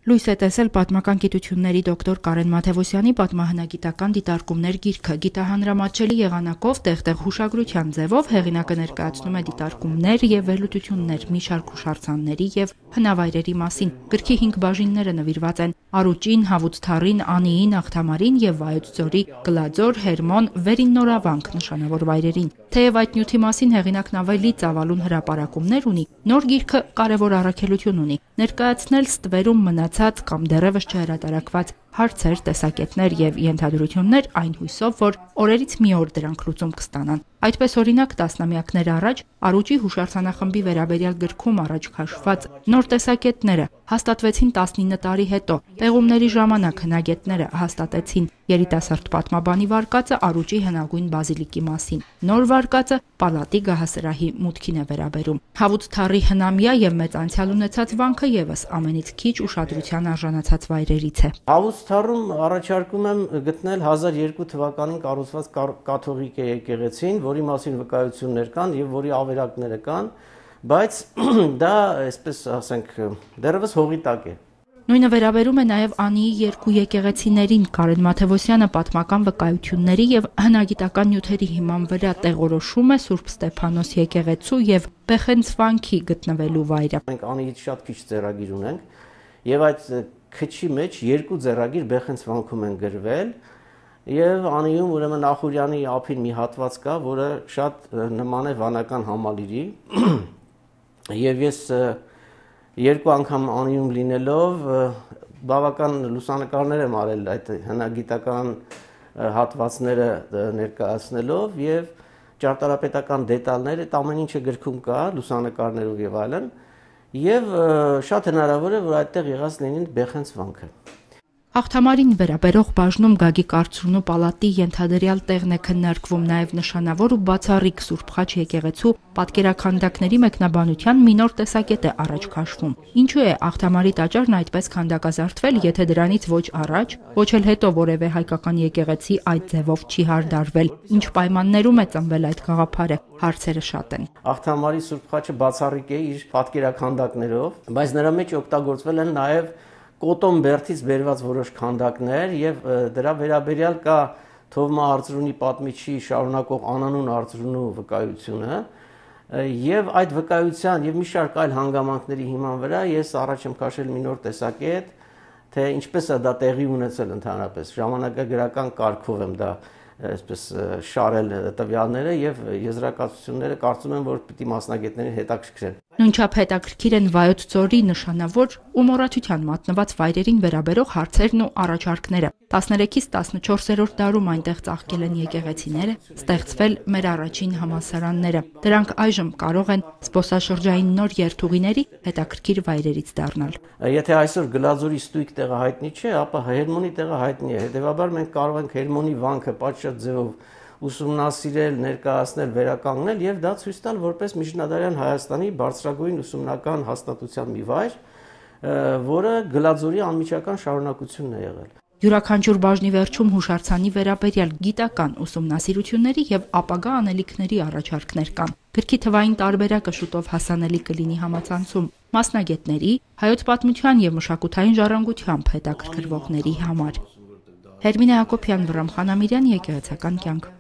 Լույս է տեսել պատմական գիտությունների դոկտոր Կարեն Մաթևոսյանի պատմահնագիտական դիտարկումներ գիրքը։ Գիտահանրամատչելի եղանակով տեղ-տեղ հուշագրության ձևով հեղինակը ներկայացնում է դիտարկումներ եւ վերլուծություններ մի շարք հուշարձանների եւ հնավայրերի մասին։ Գրքի 5 բաժինները նվիրված են Արուճին, Հավուց-Թառին, Անիին, Աղթամարին եւ Վայոց ձորի Գլաձոր, Հերմոն, Վերին Նորավանք նշանավոր վայրերին։ Թեև այդ նյութի մասին հեղինակն ավելի ծավալուն հրապարակումներ ունի, նոր գիրքը կարևոր առաքելություն ունի՝ ներկայացնել ստվերում մնացած կամ դեռևս չհրատարակված հարցեր, տեսակետներ եւ ենթադրություններ այն հույսով, որ օրերից մի օր դրանք լուծում կստանան։ Այդպես օրինակ տասնամյակներ առաջ Արուճի հուշարձանախմբի վերաբերյալ գրքում առաջ քաշված նոր տեսակետները հաստատվեցին 19 տարի հետո։ Պեղումների ժամանակ հնագետները հաստատեցին երիտասարդ պատմաբանի վարկածը Արուճի հնագույն բազիլիկի մասին։ Նոր վարկածը պալատի գահասրահի մուտքին է վերաբերում։ Հավուց-Թառի հնամյա եւ մեծ անցյալ ունեցած վանքը եւս ամենից քիչ ուշադրության արժանացած վայրերից է։ Հավուց-Թառում առաջարկում եմ գտնել 1002 թվականին կառուցված կաթողիկ եկեղեցին, որի մասին վկայություններ կան եւ որի ավերակները կան, բայց դա, այսպես ասենք, դեռևս հողի տակ է։ Նույնը վերաբերում է նաև Անիի երկու եկեղեցիներին։ Կարեն Մաթևոսյանը պատմական վկայությունների եւ հնագիտական նյութերի հիման վրա տեղորոշում է Սուրբ Ստեփանոս եկեղեցու եւ Բեխենց վանքի գտնվելու վայրը։ Մենք Անիից շատ քիչ ձեռագիր ունենք եւ այդ քչի մեջ երկու ձեռագիր Բեխենց վանքում են գրվել եւ Անիում ուրեմն Ախուրյանի ափին մի հատված կա, որը շատ նման է վանական համալիրի եւ ես երկու անգամ Անիում լինելով բավական լուսանկարներ եմ արել այդ հնագիտական հատվածները ներկայացնելով եւ ճարտարապետական դետալներ, այդ ամեն ինչը գրքում կա լուսանկարներով եւ այլն եւ շատ հնարավոր է որ այդտեղ եղած լինի Բեխենց վանքը։ Աղթամարին վերաբերող բաժնում Գագիկ Արծրունու պալատի ենթադրյալ տեղն է քննարկվում, նաև նշանավոր ու բացառիկ Սուրբ Խաչ եկեղեցու պատկերաքանդակների մեկնաբանության մի նոր տեսակետ է առաջ քաշվում։ Ինչու է Աղթամարի տաճարն այդպես քանդակազարդվել, եթե դրանից ոչ առաջ, ոչ էլ հետո որևէ հայկական եկեղեցի այդ ձևով չի հարդարվել։ Ինչ պայմաններում է ծնվել այդ գաղափարը, հարցերը շատ են։ Աղթամարի Սուրբ Խաչը բացառիկ է իր պատկերաքանդակներով, բայց նրա մեջ օգտագործվել են նաև Կոտոն բերդից բերված որոշ քանդակներ եւ դրա վերաբերյալ կա Թովմա Արծրունի պատմիչի շարունակող անանուն Արծրունու վկայությունը եւ այդ վկայության եւ մի շարք այլ հանգամանքների հիման վրա ես առաջ եմ քաշել մի նոր տեսակետ, թե ինչպես է դա տեղի ունեցել ընդհանրապես ժամանակագրական կարգով եմ դա այսպես շարել տվյալները եւ եզրակացությունները կարծում եմ որ պիտի մասնագետներին հետաքրքրեն։ Նույնչափ հետաքրքիր են Վայոց ձորի նշանավոր ու մոռացության մատնված վայրերին վերաբերող հարցերն ու առաջարկները։ 13-ից 14-րդ դարում այնտեղ ծաղկել են եկեղեցիները, ստեղծվել մեր առաջին համալսարանները։ Դրանք այժմ կարող են զբոսաշրջային նոր երթուղիների հետաքրքիր վայրերից դառնալ։ Եթե այսօր Գլաձորի ստույգ տեղը հայտնի չէ, ապա Հերմոնի տեղը հայտնի է։ Հետևաբար մենք կարող ենք Հերմոնի վանքը պատշաճ ձևով ուսումնասիրել, ներկայացնել, վերականգնել եւ դա ցույց տալ որպես միջնադարյան Հայաստանի բարձրագույն ուսումնական հաստատության մի վայր, որը Գլաձորի անմիջական շարունակությունն է եղել։ Յուրաքանչյուր բաժնի վերջում հուշարձանի վերաբերյալ գիտական ուսումնասիրությունների եւ ապագա անելիքների առաջարկներ կան։ Գրքի թվային տարբերակը շուտով հասանելի կլինի համացանցում մասնագետների, հայոց պատմության եւ մշակութային ժառանգությամբ հետաքրքրվողների համար։ Հերմինե Հակոբյան, Վռամ Խանամիրյան, Եկեղեցական կյանք։